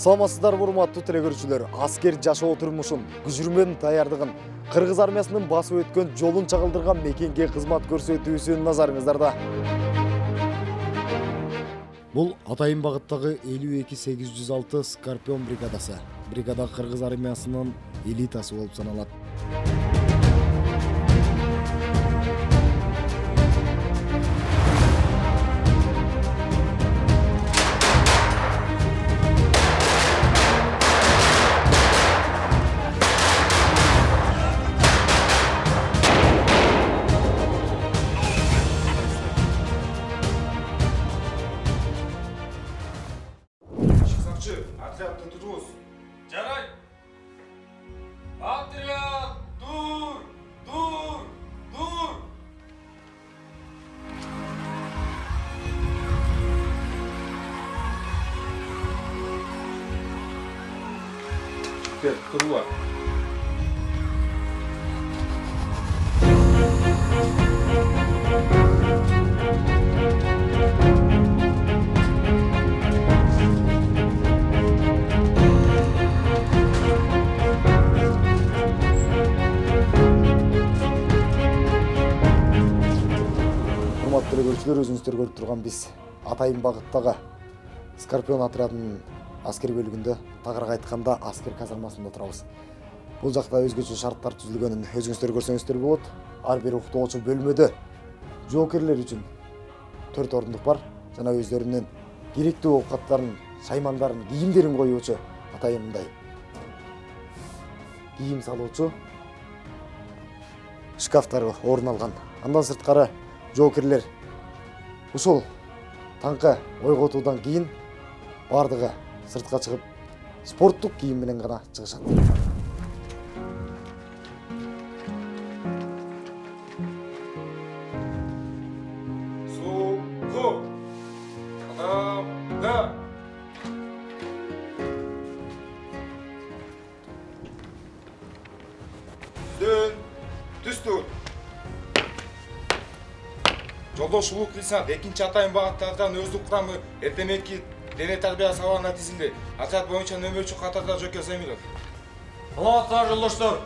Саламатсыздарбы урматтуу телекөрүүчүлөр, аскер жашоо турмушун, күжүрмөнүн даярдыгын, кыргыз армиясынын басып өткөн жолун чагылдырган мекенге кызмат көрсөтүүсүн назарыңыздарда. Бул Атайын багыттагы 52806 Скорпион бригадасы. Бригада кыргыз армиясынын элитасы болуп саналат. Отрядты тургуз. Жарай. Отряд, дур. Теперь тургула. Урматтуу телекөрүүчүлөр, өзүңүздөр көрүп турган биз Атайын багыттагы Скорпион отрядынын аскер бөлүгүндө, тагыраак айтканда аскер казармасында турабыз. Бул жакта өзгөчө шарттар түзүлгөнүн өзүңүздөр көрсөңүздөр болот. Ар бир уктоочу бөлмөдө жоокерлер үчүн 4 орундук бар жана өздөрүнүн керектүү оокаттарын, шаймандарын, кийимдерин коюучу атайын мындай кийим салуучу шкафтар орун алган. Андан сырткары жоокерлер ушул таңкы ойготуудан кийин бардыгы сыртка чыгып спорттук кийим менен гана чыгышат. Сулгу. Да. Дön. Түстүр. Жолдош улук лейтенант 2-чи Атайын багыттардан өздүк курамы эртемекки дене тарбия сабагына тизилди. Отряд боюнча нөмөрчү катарда Жөкө Замиров. Саламатсыздар жолдоштор.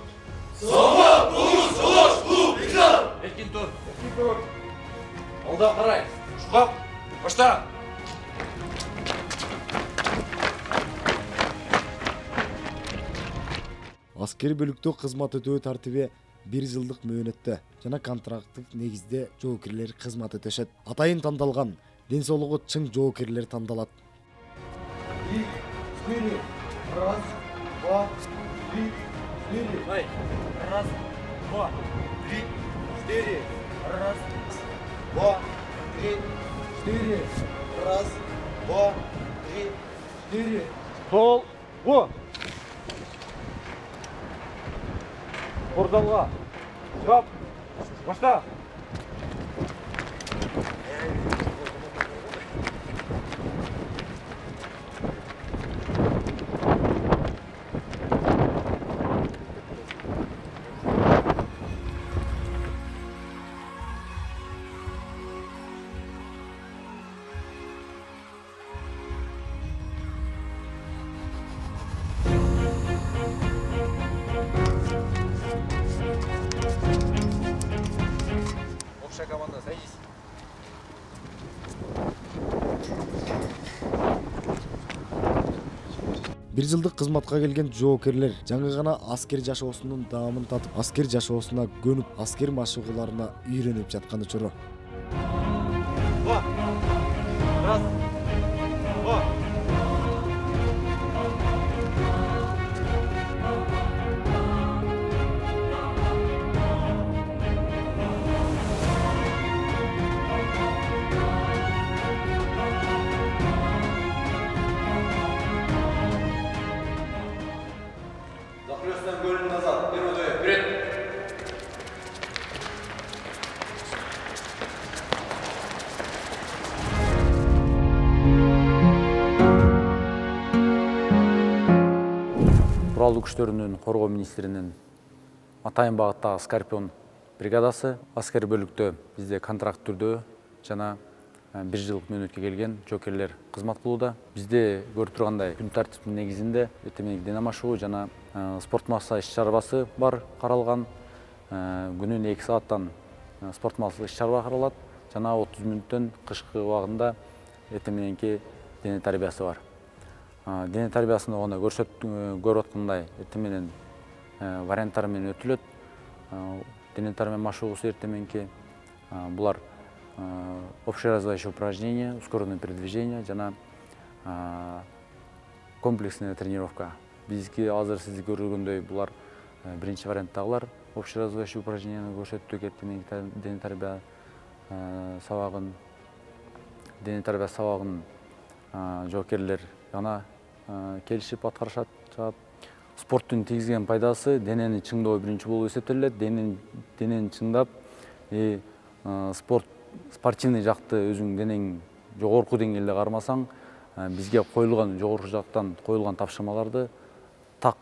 Саламат болуңуз, жолдош, улук лейтенант. Эркин тур. Алда карай. Шукап. Башта. Аскери бөлүктө кызмат өтөө тартиби 1 жылдык мөөнөттө жана контракттык негизде жоокерлер кызмат өтөшөт. Атайын тандалган, ден соолугу чың жоокерлер тандалат. 1, 2, 3, 4. Ай. 1, 2, 3, 4. 1, 2, 3, 4. 1, 2, 3, 4. Sol. Го. Ордалга. Шукап. Башта. Общая команда, садись. Бир жылдык кызматка келген жоокерлер жаңы гана аскер жашоосунун даамын татып, аскер жашоосуна көнүп, аскер машыгууларына үйрөнүп жаткан учуру. Раз. Два. Захлёстан бөлүн назад. Первый вперед. Куралдуу күчтөрүнүн коргоо министринин Атайын багыттагы Скорпион бригадасы аскер бөлүктө бизде контракт түрдө жана 1 жылдык мөөнөткө келген жокерлер кызмат кылууда. Бизде көрүп тургандай күн тартиптин негизинде эртең дене машыгуу жана спорт массаж иш-чарабасы бар каралган. Күнүнө 2 сааттан спорт массаж иш-чарба каралат жана 30 мүнөттөн кышкы убагында эртең мененки дене тарбиясы бар. Дене тарбиясында гана көрүп аткандай эртең менен варианттар менен өтүлөт. Дене тарбия машыгуусу эртең мененки булар общеразвивающие упражнения, ускоренное передвижение жана комплексная тренировка. Бизги азыр сиз көргөндөй булар биринчи варианттагылар общеразвивающие упражненияны көрсөттүк. Эртең мененки дене тарбия сабагын жоокерлер гана келишип аткарышат. Спорттун тийгизген пайдасы денени чыңдоо биринчи болуп эсептелет. Денени чыңдап, спортивный жакты өзүң денең жогорку деңгээлде кармасаң, бизге коюлган жогорку жактан коюлган тапшырмаларды так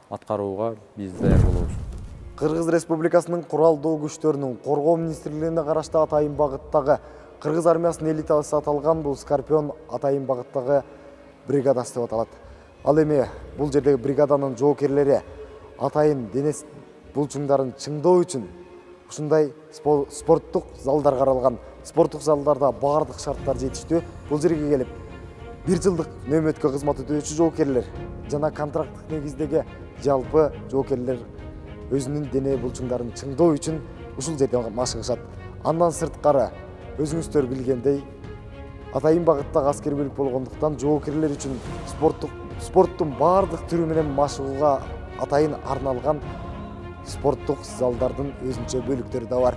аткарууга биз даяр болобуз. Кыргыз Республикасынын куралдуу күчтөрүнүн коргоо министрлигине карашты Атайын багыттагы Кыргыз армиясынын элитасы аталган бул Скорпион Атайын багыттагы бригадасы деп аталат. Ал эми бул жердеги бригаданын жоокерлери атайын дене булчуңдарын чыңдоо үчүн ушундай спорттук залдар каралган. Спорттук залдарда баардык шарттар жетиштүү. Бул жерге келип 1 жылдык нөөмөткө кызмат өтөөчү жоокерлер жана контракттык негиздеги жалпы жоокерлер өзүнүн дене булчуңдарын чыңдоо үчүн ушул жерде машыгышат. Андан сырткары өзүңүздөр билгендей Атайын багыттагы аскер бөлүк болгондуктан жоокерлер үчүн спорттун баардык түрү менен машыгууга атайын арналган спорттук залдардын өзүнчө бөлүктөрү да бар.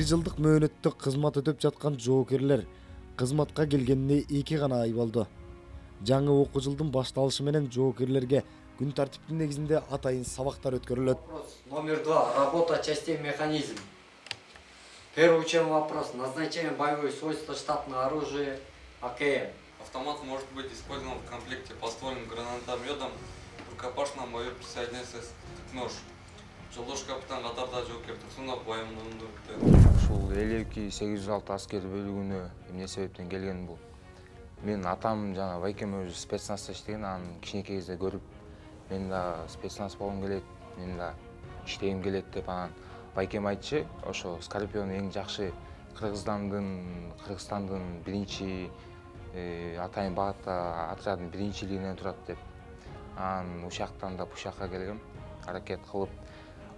Жылдык мөөнөттө кызмат өтөп жаткан жоокерлер кызматка келгенине 2 гана ай болду. Жаңы окуу жылдын башталышы менен жоокерлерге күн тартиптин негизинде атайын сабактар өткөрүлөт. Номер 2. Работа частей механизм. Первый учебный вопрос. Назначение боевых свойств штатного оружия АКМ. Автомат может быть использован в комплекте подствольным гранатометом, рукопашном бою присоединяется нож. Жолдош капитан катарда жоокер Турсунов байымдуулукта. Ушул 52-806 аскер бөлүгүнө эмне себептен келген бул? Мен атам жана байкем өзү спецназда иштеген, анын кичинекей кезде көрүп, мен да спецназ болгум келет, мен да иштегим келет деп анан байкем айтчы, ошо Скорпион эң жакшы Кыргызстандын биринчи Атайын багытта отряддын биринчилигинен турат деп. Анан ушактан да бушакка келгем, аракет кылып,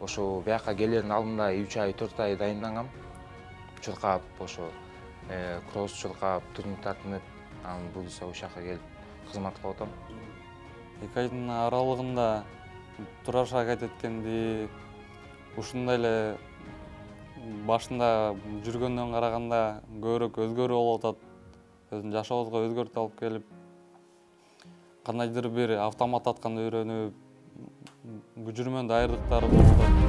ошо бияка келердин алдында 3 ай 4 ай дайындангам. Чуркап ошо кросс чуркап, турник тартынып, анан буюрса ушакка келип кызмат кылып атам. 2 айдын аралыгында тураш аракет эткенди ушундай эле башында жүргөндөн караганда көбүрөөк өзгөрүү болуп атат. Өзүнүн жашообузга өзгөртүү алып келип, кандайдыр бир автомат атканды үйрөнүп, жүрмөн дайырдыктары болуп атат.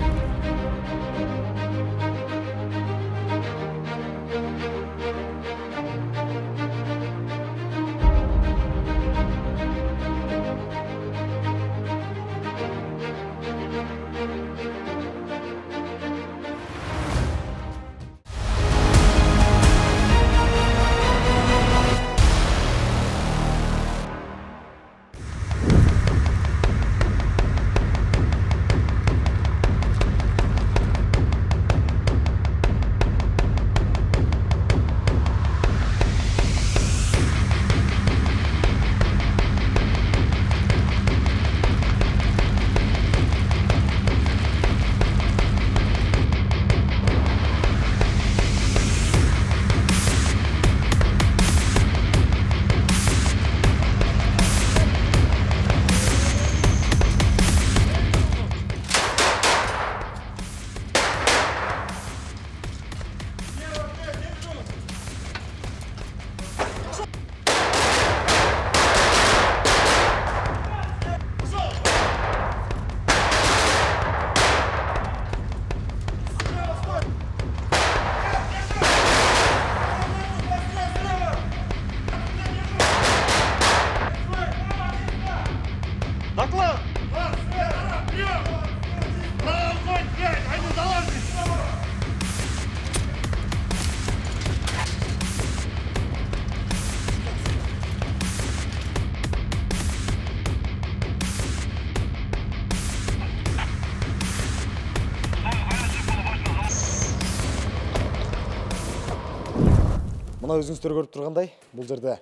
Мына өзүңүздөр көрүп тургандай, бул жерде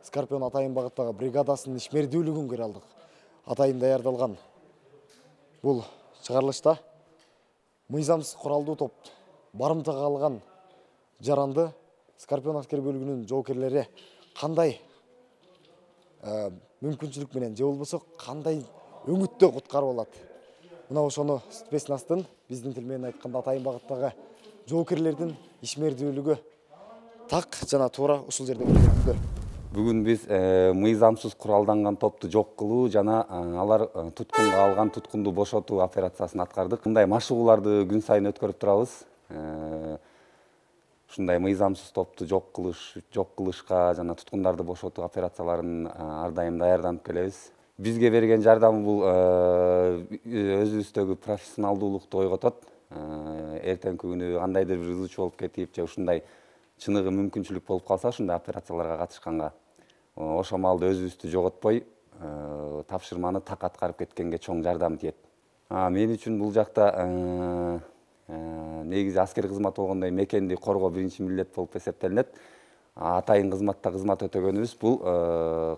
Скорпион Атайын багыттагы бригадасынын ишмердүүлүгүн көрө алдык. Атайын даярдалган бул чыгарылышта мыйзамсыз куралдуу топ барымтага алган жаранды Скорпион аскер бөлүгүнүн жоокерлери кандай мүмкүнчүлүк менен же болбосо кандай өңүттө куткарып алат. Мына ошону спецнастын биздин тил менен айтканда Атайын багыттагы жоокерлердин ишмердүүлүгү так жана туура ушул жерде көрсөтүлдү. Бүгүн биз мыйзамсыз куралданган топту жок кылуу жана алар туткунга алган туткунду бошотуу операциясын аткардык. Мындай машыгууларды күн сайын өткөрүп турабыз. Ушундай мыйзамсыз топту жок кылышка жана туткундарды бошотуу операцияларын ар дайым даярданып келебиз. Бизге берген жардамы бул өзүбүздөгү профессионалдуулукту ойготот. Эртеңки күнү кандайдыр бир ызычуу болуп кетип же ушундай чыныгы мүмкүнчүлүк болуп калса ушундай операцияларга катышканга ошол маалда өзүбүздү жоготпой тапшырманы так аткарып кеткенге чоң жардам тиет. Мен үчүн бул жакта негизи аскер кызматы болгондой мекенди коргоо биринчи милдет болуп эсептелинет. Атайын кызматта кызмат өтөгөнүбүз бул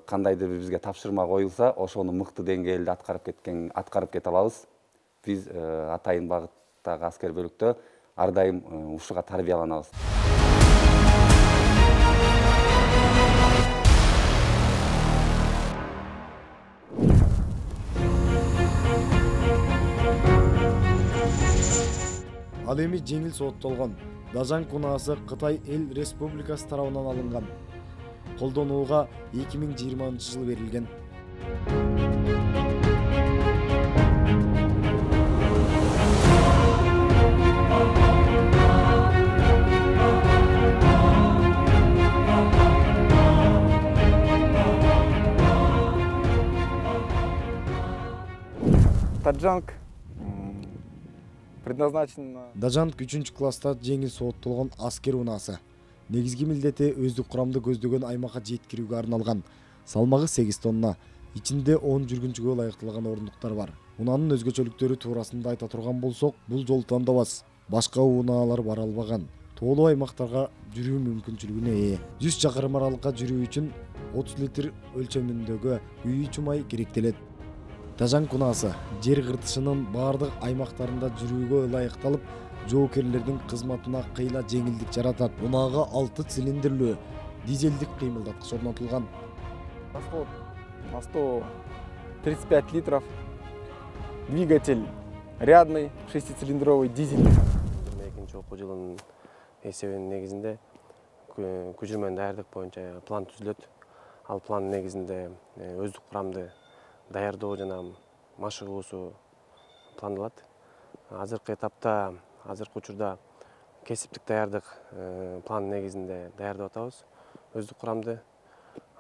кандайдыр бир бизге тапшырма коюлса ошону мыкты деңгээлде аткарып кете алабыз. Биз Атайын багыттагы аскер бөлүктө ар дайым ушуга тарбияланабыз. Ал эми жеңил сооттолгон Дажанг унаасы Кытай Эл Республикасы тарабынан алынган. Колдонууга 2020 жылы берилген. Таджанг предназначен. Дажанг 3 класста жеңил сооттолгон аскер унаасы. Негизги милдети өздүк курамды көздөгөн аймакка жеткирүүгө арналган. Салмагы 8 тонна, ичинде 10 жүргүнчүгө ылайыкталган орундуктар бар. Унаанын өзгөчөлүктөрү туурасында айта турган болсок, бул жолу тандабас. Башка унаалар бара албаган. Тоолуу аймактарга жүрүү мүмкүнчүлүгүнө ээ. 100 чакырым аралыкка жүрүү үчүн 30 литр өлчөмүндөгү үй чумай керектелет. Дажанг унаасы жер кыртышынын баардык аймактарында жүрүүгө ылайыкталып, жоокерлердин кызматына кыйла жеңилдик жаратат. Унаага 6 цилиндрлүү дизелдик кыймылдаткыч орнотулган. Расход на 135 литров. Двигатель рядный, 6-цилиндровый дизель. 22 окуу жылынын эсебинин негизинде көчүрмөнү даярдык боюнча план түзүлөт. Ал план негизинде өздүк курамды даярдоо жана машыгуусу пландалат. Азыркы этапта, азыркы учурда кесиптик даярдык план негизинде даярдап атабыз. Өздүк курамды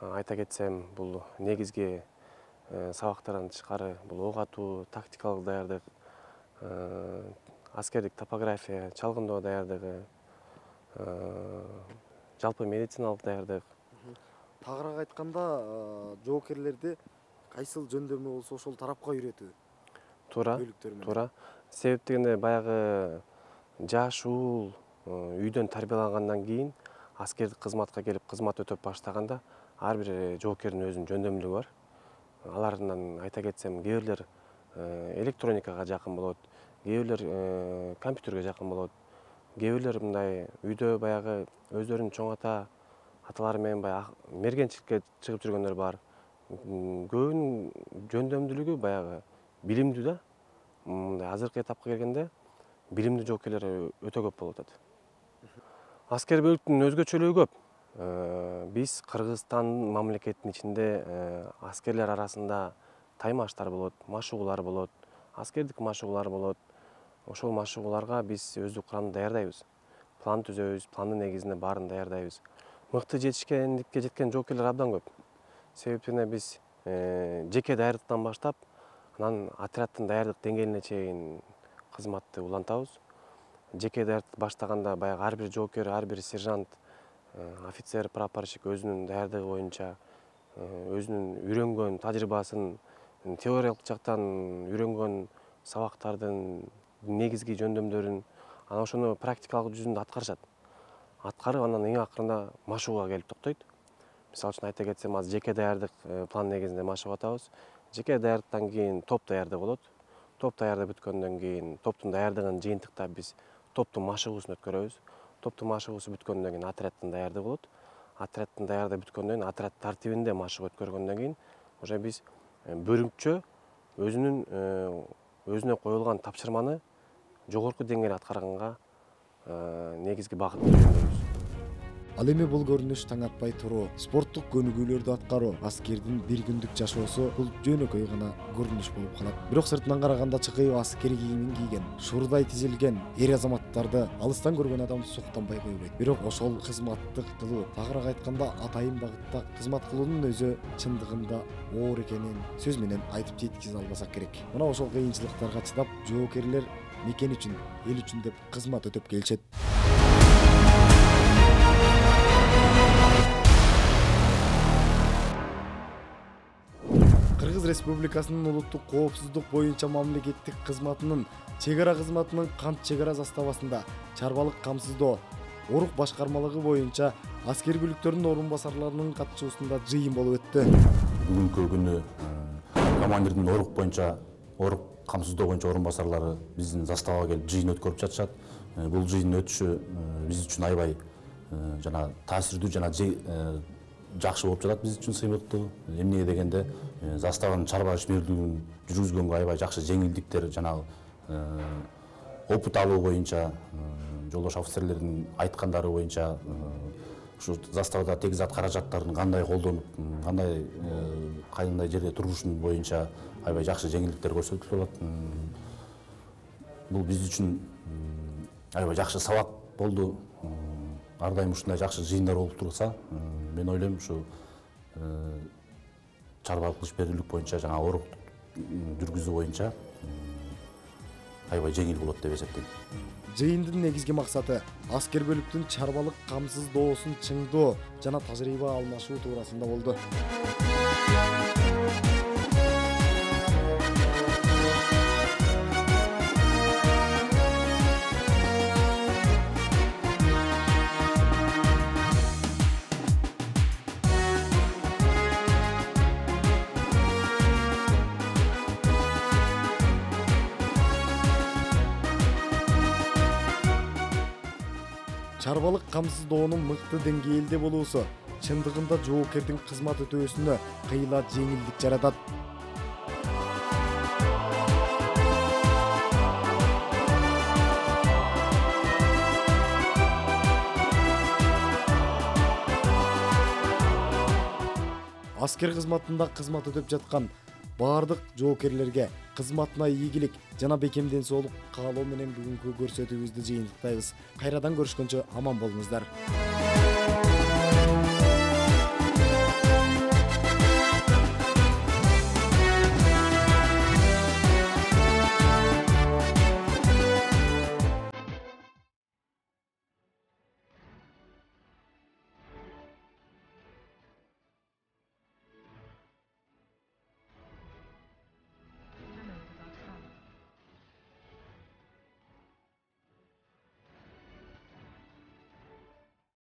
айта кетсем, бул негизги сабактардан тышкары бул ок атуу, тактикалык даярдык, аскердик топография, чалгындоо даярдыгы, жалпы медициналык даярдык. Тагыраак айтканда, жоокерлерди кайсыл жөндөмү болсо ошол тарапка үйрөтүү. Туура. Себеп дегенде баягы жаш уул үйдөн тарбиялангандан кийин аскердик кызматка келип кызмат өтөп баштаганда ар бир жоокердин өзүнүн жөндөмдүгү бар. Алардан айта кетсем, кээ бирлер электроникага жакын болот, кээ бирлер компьютерге жакын болот, кээ бирлер мындай үйдө баягы өздөрүнүн чоң аталары менен баягы мергенчиликке чыгып жүргөндөр бар. Көбүнүн жөндөмдүүлүгү баягы билимдүү да. Мындай азыркы этапка келгенде билимдүү жоокерлер өтө көп болуп атат. Аскер бөлүктүн өзгөчөлүгү көп. Биз Кыргызстан мамлекетинин ичинде аскерлер арасында таймаштар болот, машыгуулар болот, аскердик машыгуулар болот. Ошол машыгууларга биз өздүк курамды даярдайбыз. План түзөбүз, пландын негизинде баарын даярдайбыз. Мыкты жетишкендикке жеткен жоокерлер абдан көп. Себебине биз жеке даярдыктан баштап, анан отряддын даярдык деңгээлине чейин кызматты улантабыз. Жеке даярдыкты баштаганда баягы ар бир жоокер, ар бир сержант, офицер, прапорщик өзүнүн даярдыгы боюнча өзүнүн үйрөнгөн тажрыйбасын, теориялык жактан үйрөнгөн сабактардын негизги жөндөмдөрүн, анан ошону практикалык жүзүндө аткарышат. аткарып анан эң акырында машыгууга келип токтойт. Мисалы үчүн айта кетсем, азыр жеке даярдык план негизинде машыгып атабыз. Жеке даярдыктан кийин топ даярдык болот. Топ даярдык бүткөндөн кийин топтун даярдыгын жыйынтыктап биз топтун машыгуусун өткөрөбүз. Топтун машыгуусу бүткөндөн кийин отряддын даярдыгы болот. Отряддын даярдыгы бүткөндөн кийин отряд тартибинде машыгып өткөргөндөн кийин уже биз бөлүмчө өзүнө коюлган тапшырманы жогорку деңгээлде аткарганга негизги багыт белгилейбиз. Ал эми бул көрүнүш таң атпай туруу, спорттук көнүгүүлөрдү аткаруу аскердин бир күндүк жашоосу бул жөнөкөй гана көрүнүш болуп калат. Бирок сыртынан караганда чыкыйып аскер кийимин кийген, шуурдай тизилген эр азаматтарды алыстан көргөн адам суктанбай койбойт. Бирок ошол кызматтык кылуу, тагыраак айтканда атайын багытта кызмат кылуунун өзү чындыгында оор экенин сөз менен айтып жеткизе албасак керек. Мына ошол кыйынчылыктарга чыдап, жоокерлер мекен үчүн, эл үчүн деп кызмат өтөп келишет. Кыргыз Республикасынын улуттук коопсуздук боюнча мамлекеттик кызматынын чек ара кызматынын Кант чек ара заставасында чарбалык камсыздоо, орук башкармалыгы боюнча аскер бүлүктөрүнүн орун басарларынын катышуусунда жыйын болуп өттү. Бүгүнкү күнү командирдин орук камсыздоо боюнча орун басарлары биздин заставага келип жыйын өткөрүп жатышат. Бул жыйындын өтүшү биз үчүн аябай жана таасирдүү жана жакшы болуп жатат биз үчүн, сыймыктуу. Эмнеге дегенде заставанын чарба ишмердүүлүгүн жүргүзгөнгө аябай жакшы жеңилдиктер жана опыт алуу боюнча жолдош офицерлердин айткандары боюнча ушу заставада тегизат каражаттарын кандай колдонуп, кандай жерде турушун боюнча аябай жакшы жеңилдиктер көрсөтүлүп атат. Бул биз үчүн аябай жакшы сабак болду. Ар дайым ушундай жакшы жыйындар болуп турса, мен ойлойм ушу чарбалык ишмердүүлүк боюнча жана орук жүргүзүү боюнча аябай жеңил болот деп эсептейм. Жыйындын негизги максаты аскер бөлүктүн чарбалык камсыздоосун чыңдоо жана тажрыйба алмашуу туурасында болду. Чарбалык камсыздоонун мыкты деңгээлде болуусу чындыгында жоокердин кызмат өтөөсүнө кыйла жеңилдик жаратат. Аскер кызматында кызмат өтөп жаткан баардык жоокерлерге кызматына ийгилик жана бекемден соолук каалоо менен бүгүнкү көрсөтүүбүздү жыйынтыктайбыз. Кайрадан көрүшкөнчө аман болуңуздар.